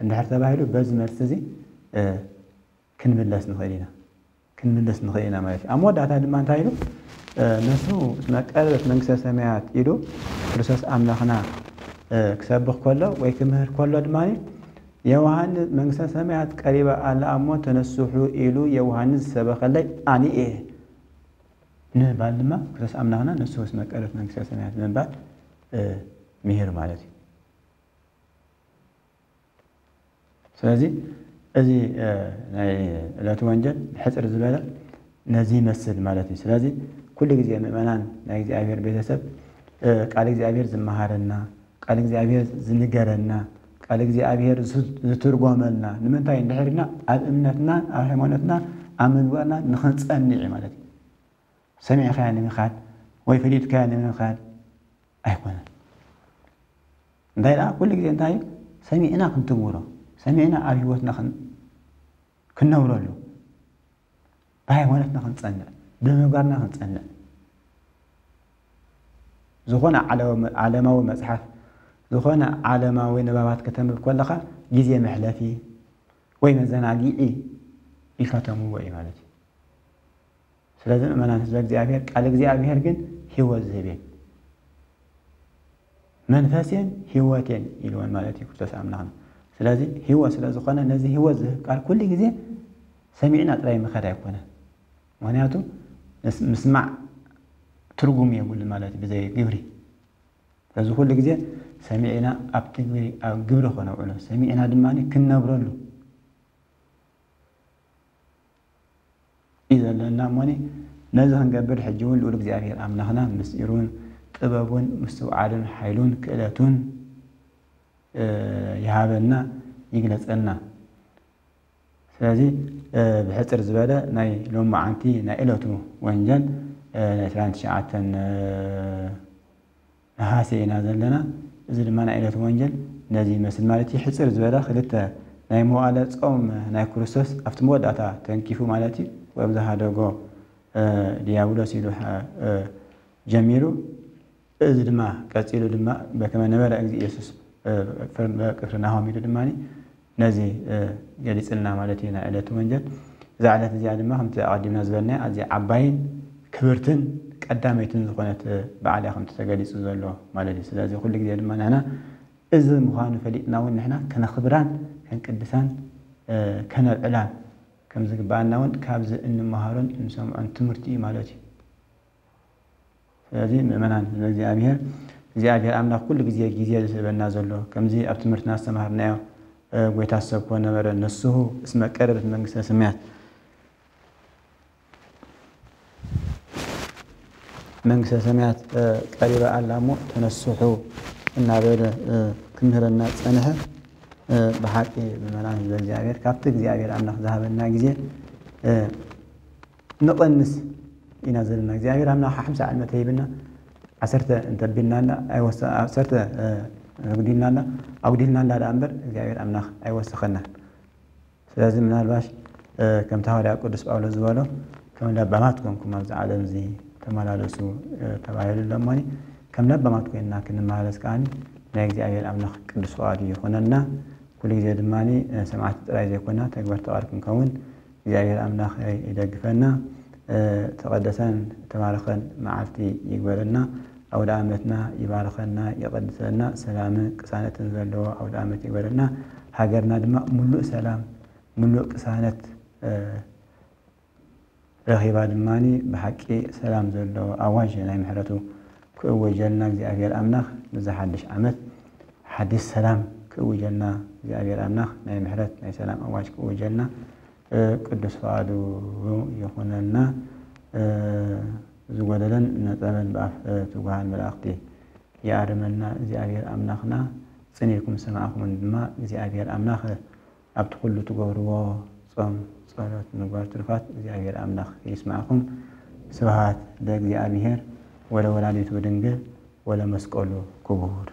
እንድሕር ተባሂሉ በዚ መልሲ እዚ ክንምለስ ንኽእል ኢና፣ ክንምለስ ንኽእል ኢና ማለት እዩ። ኣብ መወዳእታ ድማ እንታይ ኢሉ? ነሱ እስመ ቀረበት መንግስተ ሰማያት ኢሉ ክርስቶስ ኣምላኽና ክሰብኽ ከሎ ወይ ክምህር ከሎ ድማ ዮሃንስ መንግስተ ሰማያት ቀሪባ ኣላ እሞ ተነስሑ ኢሉ ዮሃንስ ዝሰበኸለይ ኣነ እየ ንምባል ድማ ክርስቶስ ኣምላኽና ነሱ እስመ ቀረበት መንግስተ ሰማያት ንምባል ምሂር ማለት እዩ። ስለዚ እዚ ናይ ዕለቱ ወንጀል ብሕፅር ዝበለ ነዚ ይመስል ማለት እዩ። ስለዚ ኩሉ ግዜ ምእመናን ናይ እግዚኣብሔር ቤተሰብ ቃል እግዚኣብሔር ዝመሃረና፣ ቃል እግዚኣብሔር ዝንገረና፣ ቃል እግዚኣብሔር ዝትርጎመልና ንምንታይ እንድሕር ኢልና ኣብ እምነትና ኣብ ሃይማኖትና ኣብ ምግባርና ንኽንፀንዕ እዩ ማለት እዩ። ሰሚዕካያ ንምኻድ ወይ ፈሊጥካያ ንምኻድ ኣይኮነን። እንታይ ደኣ ኩሉ ግዜ እንታይ እዩ? ሰሚዕና ክንትግብሮ፣ ሰሚዕና ኣብ ህይወትና ክንነብረሉ፣ ብሃይማኖትና ክንፀንዕ፣ ብምግባርና ክንፀንዕ። ዝኾነ ዓለማዊ መፅሓፍ፣ ዝኾነ ዓለማዊ ንባባት ከተንብብ ከለኻ ግዜ መሕለፊ ወይ መዘናጊዒ ኢልካ ተንብቦ እዩ ማለት እዩ። ስለዚ ምእመናን ህዝበ እግዚኣብሔር ቃል እግዚኣብሔር ግን ህይወት ዝህብ እዩ። መንፈሴን ህይወቴን ኢልወን ማለት እዩ ክርስቶስ ኣምላኽና። ስለዚ ህይወት ስለ ዝኾነ ነዚ ህይወት ዝህብ ቃል ኩሉ ግዜ ሰሚዕና ጥራይ ምኸድ ኣይኮነን። ምኽንያቱ ምስማዕ ትርጉም የብሉ ማለት እዩ ብዘይ ግብሪ። በዚ ኩሉ ግዜ ሰሚዕና ኣብ ትግብሪ፣ ኣብ ግብሪ ከነውዕሎ፣ ሰሚዕና ድማ ክንነብረሉ እዩ ዘለና። እሞኒ ነዚ ክንገብር ሕጂ እውን ልኡል እግዚኣብሔር ኣምላኽና ምስጢሩን ጥበቡን ምስትውዓሉን ሓይሉን ክእለቱን፣ እ፣ ይሃበና፣ ይግለጸልና። ስለዚ፣ እ፣ ብሕጽር ዝበለ ናይ ሎማዓንቲ ናይ ዕለቱ ወንጀል፣ እ፣ ናይ ዕስራን ትሽዓተን፣ እ፣ ነሃሴ ኢና ዘለና። እዚ ድማ ናይ ዕለቱ ወንጀል ነዚ ይመስል ማለት እዩ። ሕጽር ዝበለ ክልተ ናይ መዋዕለ ጾም ናይ ክርስቶስ ኣብቲ መወዳእታ ተንኪፉ ማለት እዩ። ወይም ዝሃደጎ፣ እ፣ ዲያብሎስ ኢሉ፣ እ፣ ጀሚሩ፣ እዚ ድማ ቀጺሉ ድማ በከመ ነበረ እግዚእ ኢየሱስ፣ እ፣ ቅፍርናሆም ኢሉ ድማ ነዚ፣ እ፣ ገሊጽልና ማለት እዩ፣ ናይ ዕለቱ ወንጀል። እዛ ዕለት እዚኣ ድማ ከምቲ ኣቐዲምና ዝበልናዮ ኣዝያ ዓባይን ክብርትን ቀዳመይትን ዝኾነት፣ እ፣ በዓል እያ ከምቲ ተገሊጹ ዘሎ ማለት እዩ። ስለዚ ኩሉ ግዜ ድማ ንሕና እዚ ምዃኑ ፈሊጥና እውን ንሕና ከነኽብራን ከንቅድሳን፣ እ፣ ከነብዕላን ከም ዝግብኣና እውን ካብዚ እንመሃሮን እንሰምዖን ትምህርቲ እዩ ማለት እዩ። ስለዚ ምእመናን ህዝበ እግዚኣብሔር፣ እግዚኣብሔር ኣምላኽ ኩሉ ግዜ ግዜ ዝህበና ዘሎ፣ ከምዚ ኣብ ትምህርትና ዝተማሃርናዮ፣ እ፣ ጎይታ ሰብ ኮነ ነበረ፣ ንስሁ እስመ ቀረበት መንግስተ ሰማያት፣ መንግስተ ሰማያት፣ እ፣ ቀሪባ ኣላ እሞ ተነስሑ እናበለ፣ እ፣ ክምህረና ጸንሐ። እ፣ ብሓቂ ምእመናን ህዝበ እግዚኣብሔር፣ ካብቲ እግዚኣብሔር ኣምላኽ ዝሃበና ግዜ፣ እ፣ ንቐንስ ኢና ዘለና። እግዚኣብሔር ኣምላኽ ሓምሳ ዓመት ሂብና፣ ዓሰርተ እንተቢልና እንዳ ኣይወሰ-፣ ዓሰርተ፣ እ፣ ኣጉዲልና እንዳ፣ ኣጉዲልና እንዳ ደኣ እምበር እግዚኣብሔር ኣምላኽ ኣይወሰኸናን። ስለዚ ምናልባሽ፣ እ፣ ከምቲ ሃዋርያ ቅዱስ ጳውሎስ ዝበሎ፣ "ከም ለባማት ኮንኩም ኣብዚ ዓለም እዚ ተመላለሱ" እ፣ ተባሂሉ ኣሎ እሞኒ፣ ከም ለባማት ኮይንና ክንመላለስ ከኣኒ ናይ እግዚኣብሔር ኣምላኽ ቅዱስ ፍቓዱ ይኹነልና። ኩሉ ግዜ ድማ፣ እ፣ ሰማዕቲ ጥራይ ዘይኮና ተግበርቲ ቃል ክንከውን እግዚኣብሔር ኣምላኽ ይደግፈና። እ፣ ተቐደሰን ተባረኸን መዓልቲ ይግበረልና። ኣውደ ዓመትና ይባርኸና፣ ይቐድሰልና። ሰላምን ቅሳነትን ዘለዎ ኣውደ ዓመት ይግበረልና። ሃገርና ድማ ምሉእ ሰላም፣ ምሉእ ቅሳነት፣ እ፣ ረኺባ ድማ ብሓቂ ሰላም ዘለዎ ኣዋጅ ናይ ምሕረቱ ክእውጀልና እግዚኣብሔር ኣምላኽ፣ ነዚ ሓድሽ ዓመት ሓድሽ ሰላም ክእውጀልና እግዚኣብሔር ኣምላኽ ናይ ምሕረት ናይ ሰላም ኣዋጅ ክእውጀልና፣ እ፣ ቅዱስ ፍቓዱ ይኹነልና። እ፣ ዝጎደለን ነጸበን ብኣፍ፣ እ፣ ትጉሃን መላእኽቲ ይኣርመልና እግዚኣብሔር ኣምላኽና። ጽን ኢልኩም ዝሰማዕኩምን ድማ እግዚኣብሔር ኣምላኽ ኣብቲ ኩሉ ትገብርዎ ጾም፣ ጸሎት፣ ምግባር ትሩፋት እግዚኣብሔር ኣምላኽ ይስማዕኩም። ስብሐት ለእግዚኣብሔር ወለወላዲቱ ድንግል ወለመስቀሉ ክቡር።